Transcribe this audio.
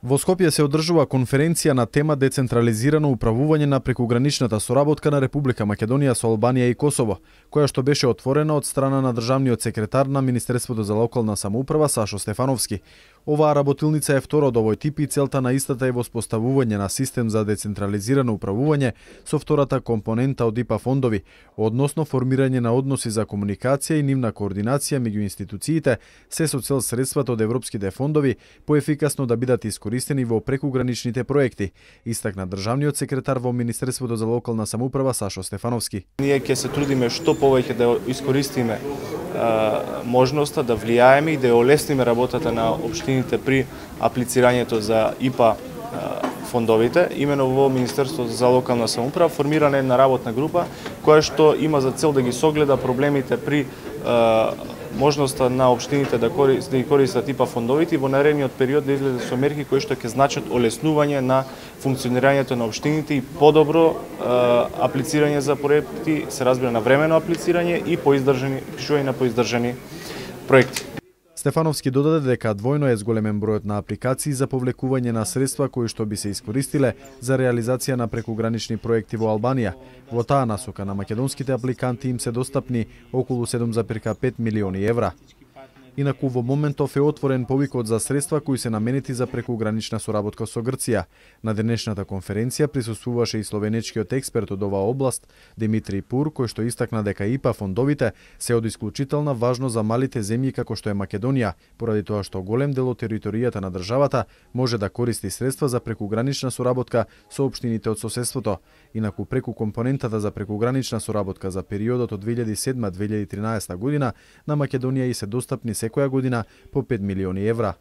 Во Скопје се одржува конференција на тема децентрализирано управување на прекуграничната соработка на Република Македонија со Албанија и Косово, која што беше отворена од страна на државниот секретар на Министерството за локална самоуправа Сашо Стефановски. Оваа работилница е втора од овој тип и целта на истата е воспоставување на систем за децентрализирано управување со втората компонента од ИПА фондови, односно формирање на односи за комуникација и нивна координација меѓу институциите, се со цел средствата од европските фондови поефикасно да бидат искористени во прекуграничните проекти, истакна државниот секретар во Министерството за локална самоуправа Сашо Стефановски. Ние ќе се трудиме што повеќе да искористиме можноста да влијаеме и да олесниме работата на општините при аплицирањето за ИПА фондовите. Имено во Министерството за локална самоуправа формирана една работна група која што има за цел да ги согледа проблемите при можноста на општините да ги користат ИПА фондовите и во наредниот период да излезе со мерки кои што ќе значат олеснување на функционирањето на општините и подобро аплицирање за проекти, се разбира на времено аплицирање и пишување на поиздржани проекти. Стефановски додаде дека двојно е зголемен бројот на апликации за повлекување на средства кои што би се искористиле за реализација на прекугранични проекти во Албанија. Во таа насока на македонските апликанти им се достапни околу 7,5 милиони евра. Инаку во моментов е отворен повикот за средства кои се наменети за прекугранична соработка со Грција. На денешната конференција присуствуваше и словенечкиот експерт од оваа област Димитри Пур, кој што истакна дека ИПА фондовите се од исклучителна важност за малите земји како што е Македонија, поради тоа што голем дел од територијата на државата може да користи средства за прекугранична соработка со општините од соседството. Инаку преку компонентата за прекугранична соработка за периодот од 2007-2013 година на Македонија и се достапни секоја година по 5 милиони евра.